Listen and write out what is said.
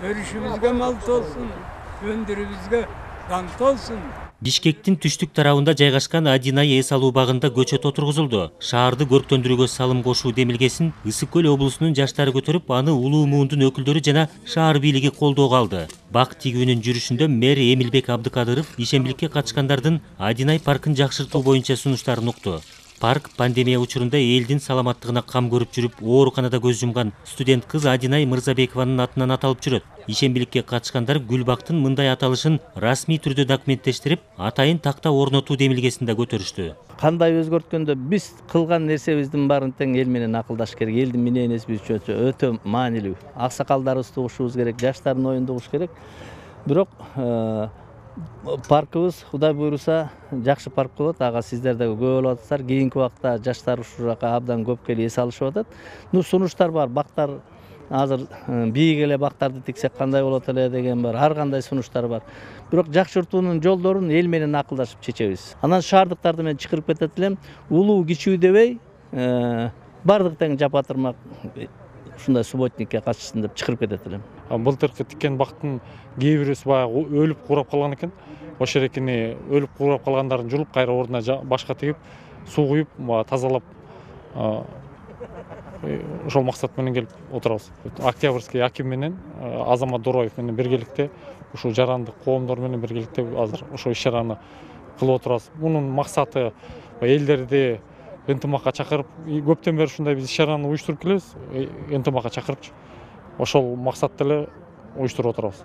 өрүшүбүзгө малт болсун, өндүрүүбүзгө даңк болсун. Бишкектин түштүк тарабында жайгашкан Адинай эс алуу багында көчөт отургузулду. Шаарды көрктөндүрүүгө салым кошуу демилгесин Ысык көл облусунун жаштары көтөрүп, аны улуу муундун өкүлдөрү жана шаар бийлиги колдоого алды. Бак тигүүнүн жүрүшүндө мэр Эмилбек Абдыкадыров ишембиликке катышкандардын Адинай паркын жакшыртуу боюнча сунуштарын укту. Парк пандемия учурунда элдин саламаттыгына кам көрүп жүрүп, ооруканада көз жумган студент кыз Адинай Мырзабекованын атынан аталып жүрөт. Ишембиликке катышкандар Гүлбактын мындай аталышын расмий түрдө документтештирип, атайын такта орнотуу демилгесин да көтөрүштү. Кандай өзгөрткөндө биз кылган нерсебиздин баарын тең эл менен акылдаш керек. Элдин мынеси үчүн өтө маанилүү. Аксакалдарыбызды угушубуз керек, жаштардын оюн угуш керек. Бирок паркыбыз Кудай буйруса жакшы парк болот. Ага сиздер да күбө болуп атасыздар. Кийинки убакта жаштар ушул жака абдан көп келип эс алышып атат. Сунуштар бар. Бактар азыр бийик эле бактарды тиксек кандай болот эле деген бар. Ар кандай сунуштар бар. Бирок жакшыртуунун жолдорун эл менен акылдашып чечебиз. Анан шаардыктарды мен чакырып кетет элем. Улуу кичүү дебей, бардык тең жапатырмак ушундай субботникке катышсын деп чакырып кетет элем. Былтыркы тиккен бактын кээ бирөөсү баягы өлүп курап калган экен. Ошол эрекини өлүп курап калгандарын жулуп, кайра ордуна башка тигип, суу куюп, тазалап ошол максат менен келип отурабыз. Октябрьский аким менен Азамат Дороев менен биргеликте ушул жарандык коомдор менен биргеликте азыр ошол иш-чараны кылып отурабыз. Мунун максаты элдерди ынтымакка чакырып, көптөн бери ушундай биз иш-чараны уюштуруп келебиз. Ынтымакка чакырып, ошол максатта эле уюштуруп отурабыз.